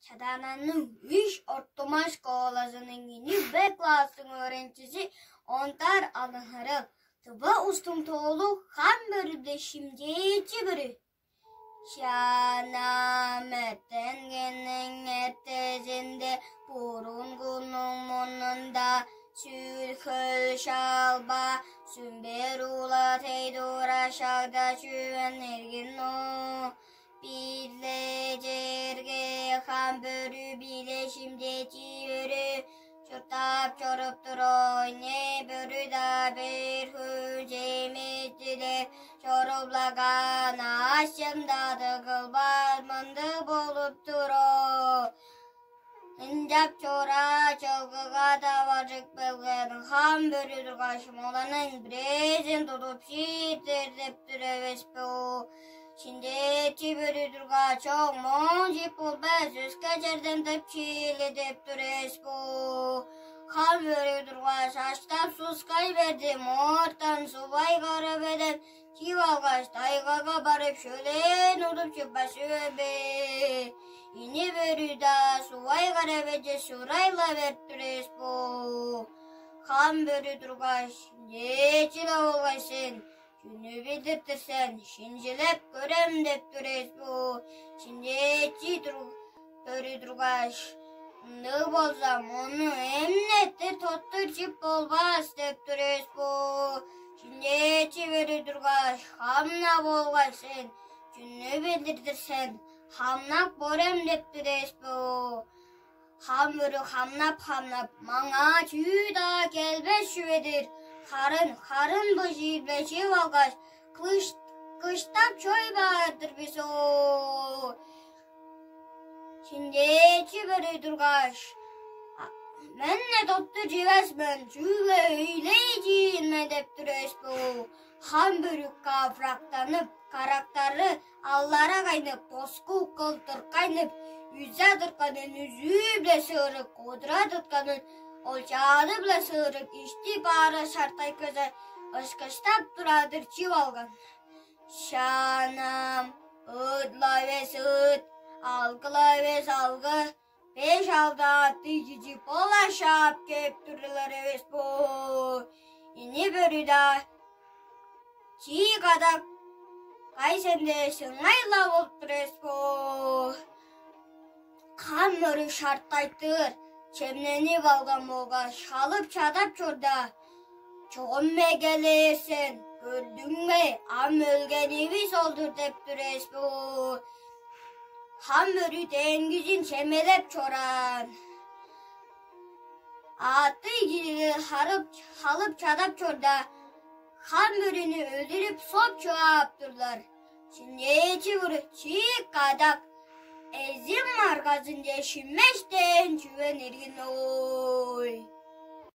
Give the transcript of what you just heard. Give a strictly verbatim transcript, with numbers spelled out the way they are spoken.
Чадаананың үш ортумаш школазының ини б класстың өөренчизи Ондар Алынхырыл. Тыва устуң тоолу хам бөрүде шимчээчи бүрү. Чаанам эртенгенниң эртезинде бурунгунуң мурнунда сүр-хөл шалба, сүмбер улат эй дура шагда чүвен эргин оо. Бир-ле черге хам бөрү биле шимчээчи бөрү чурттап чоруп тур, ойне бөрү-даа бир хүн чемиттилеп чоруплаган, аъш-чем-даа кылбас мындыг болуп тур оо. Ынчап чора чылгыга таваржып келген хам бөрү тургаш, оларның бирээзин тудуп шииттер деп тур эвес бе? Шимчээчи бөрү тургаш, чок, моон чип болбас, өске черден тып чиили деп тур эвес бе? Хам бөрү тургаш, аштап сускай берди, моортан сувай кара беден чип алгаш, тайгага барып, шөлээн удуп чыппас чүве бе? Ини бөрү-даа сувай кара беже сурай-ла берип тур эвес бе? Хам бөрү тургаш, шимчээчи-ле болгай сен, чүнү билдир-дир сен, шинчилеп көрем деп тур эвес бе? Шимчээчи тур бөрү тургаш, ындыг болза, мону эмнеттир тоттур чип болбас деп тур эвес бе? Шимчээчи бөрү тургаш, хамна болгай сен, чүнү билдир-дир сен, хамнап көрем деп тур эвес бе? Хам бөрү хамнап-хамнап, маңаа чүү-даа келбес чүве-дир. Харын, харын быжыы-биле чип алгаш, кыш, кыштап чой баар-дыр бис оо. Шимчээчи бөрү тургаш, мен-не тоттур чивес мен, чүгле өйлей чиир мен деп тур эвес бе? Хам бөрү каврактанып, карактары аллара кайнып, боску кылдыр кайнып, үзе тыртканын үзүү-биле сыырып, кудура тыртканын олчааны-биле сыырып, ишти баары шартайгыже ышкыштап турар-дыр чип алган. Шаанам, ыыт-ла эвес ыыт, алгы-ла эвес алгы, беш-алды аъттыг кижи бола шаап кээп турлар эвес бе? Ини бөрү-даа чии кадак кай сен дээш, ыңай-ла болуп тур эвес бе? Хам бөрү шартайтыр, чемненип алган болгаш, халып чадап чорда, чогум эгелээр сен, көрдүң бе, ам өлгенивис ол-дур деп тур эвес бе? Хам бөрү деңгизин чемелеп чораан. Аъттыг кижилер харып, халып чадап чорда, хам бөрүнү өлүрүп, соп чугаап турлар. Шимчээчи бөрү чиик кадак эзим маргазынче шиммештээн чүве иргин ой.